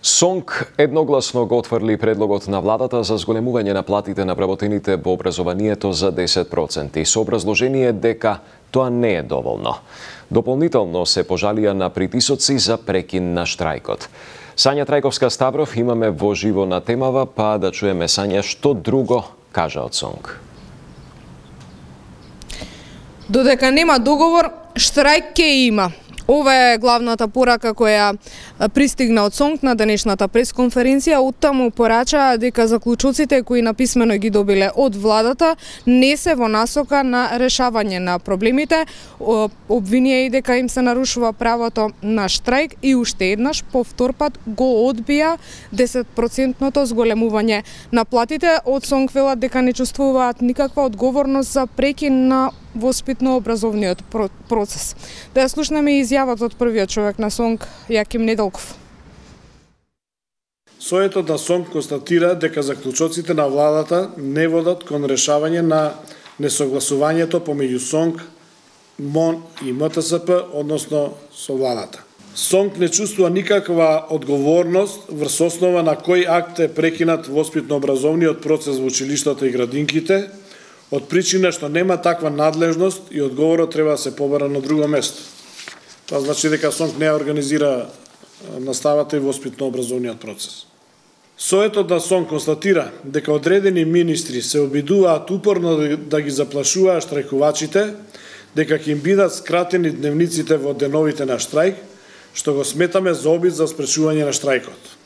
СОНК едногласно го отфрли предлогот на владата за зголемување на платите на вработените во образованието за 10%, со образложение дека тоа не е доволно. Дополнително се пожалија на притисоци за прекин на штрајкот. Сања Трајковска-Ставров имаме во живо на темава, па да чуеме Сања што друго кажа од СОНК. Додека нема договор, штрајк ќе има. Ова е главната порака која пристигна од СОНК на денешната пресконференција. Оттаму порачаа дека заклучоците кои написмено ги добиле од владата не се во насока на решавање на проблемите. Обвинија и дека им се нарушува правото на штрајк и уште еднаш по втор пат го одбија 10% зголемување на платите. Од СОНК велат дека не чувствуваат никаква одговорност за прекин на воспитно-образовниот процес. Да ја слушнеме изјавата од првиот човек на СОНК, Јаким Неделков. Советот на СОНК констатира дека заклучоците на владата не водат кон решавање на несогласувањето помеѓу СОНК, МОН и МТСП, односно со владата. СОНК не чувствува никаква одговорност врз основа на кој акт е прекинат воспитно-образовниот процес во училиштата и градинките, од причина што нема таква надлежност и одговорот треба да се побара на друго место. Тоа значи дека СОНК не организира наставата и воспитно-образовниот процес. Советот на СОНК констатира дека одредени министри се обидуваат упорно да ги заплашуваат штрајкувачите, дека ќе им бидат скратени дневниците во деновите на штрајк, што го сметаме за обид за спречување на штрајкот.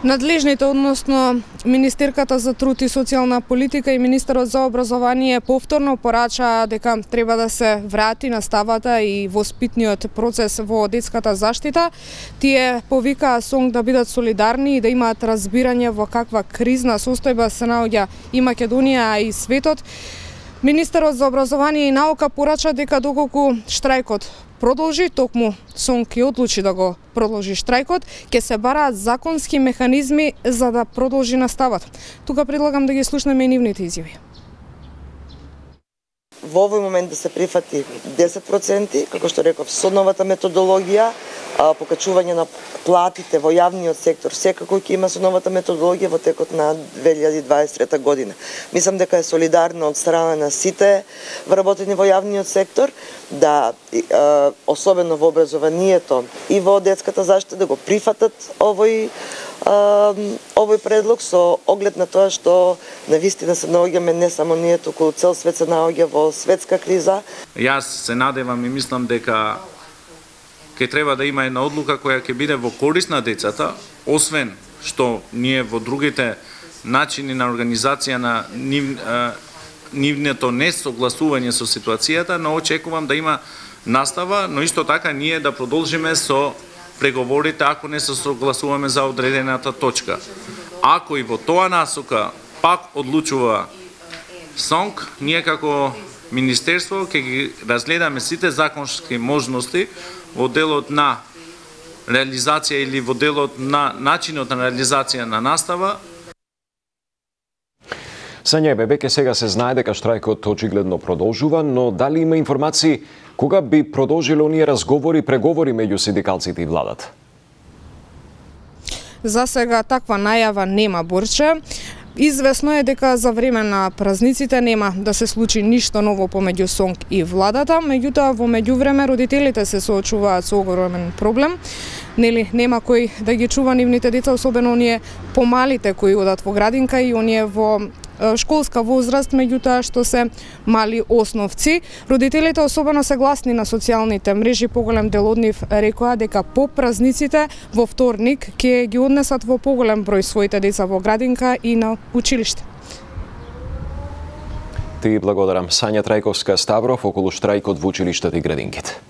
Надлежните, односно Министерката за труд и социјална политика и Министерот за образование повторно порачаа дека треба да се врати наставата и воспитниот процес во детската заштита. Тие повикаа СОНК да бидат солидарни и да имаат разбирање во каква кризна состојба се наоѓа и Македонија, а и светот. Министерот за образование и наука порача дека доколку штрајкот продолжи, токму СОНК и одлучи да го продолжи штрајкот, ќе се бараат законски механизми за да продолжи наставата. Тука предлагам да ги слушнеме нивните изјави. Во овој момент да се прифати 10%, како што реков, со новата методологија, покачување на платите во јавниот сектор, секако ќе има со новата методологија во текот на 2023 година. Мислам дека е солидарно од страна на сите вработени во јавниот сектор, да особено во образованието и во детската заштита да го прифатат овој предлог со оглед на тоа што навистина се наоѓаме не само ние, туку цел свет се наоѓа во светска криза. Јас се надевам и мислам дека ќе треба да има една одлука која ќе биде во корист на децата, освен што ние во другите начини на организација на нивното несогласување со ситуацијата, но очекувам да има настава, но исто така ние да продолжиме со преговорите ако не се согласуваме за одредената точка. Ако и во тоа насока пак одлучува СОНК, ние како Министерство ќе ги разгледаме сите законски можности во делот на реализација или во делот на начинот на реализација на настава. Сања, веќе сега се знае дека штрајкот очигледно продолжува, но дали има информации кога би продолжиле оние разговори, преговори меѓу синдикалците и владата? За сега таква најава нема, Борче. Известно е дека за време на празниците нема да се случи ништо ново помеѓу СОНК и владата, меѓутоа во меѓувреме родителите се соочуваат со огромен проблем. Нема кој да ги чува нивните деца, особено оние помалите кои одат во градинка и оние во школска возраст, меѓутоа што се мали основци. Родителите особено се гласни на социјалните мрежи, поголем дел од нив рекоа дека по празниците во вторник ќе ги однесат во поголем број своите деца во градинка и на училиште. Ти благодарам. Сања Трајковска-Ставров околу штрајкот во училиштата и градинките.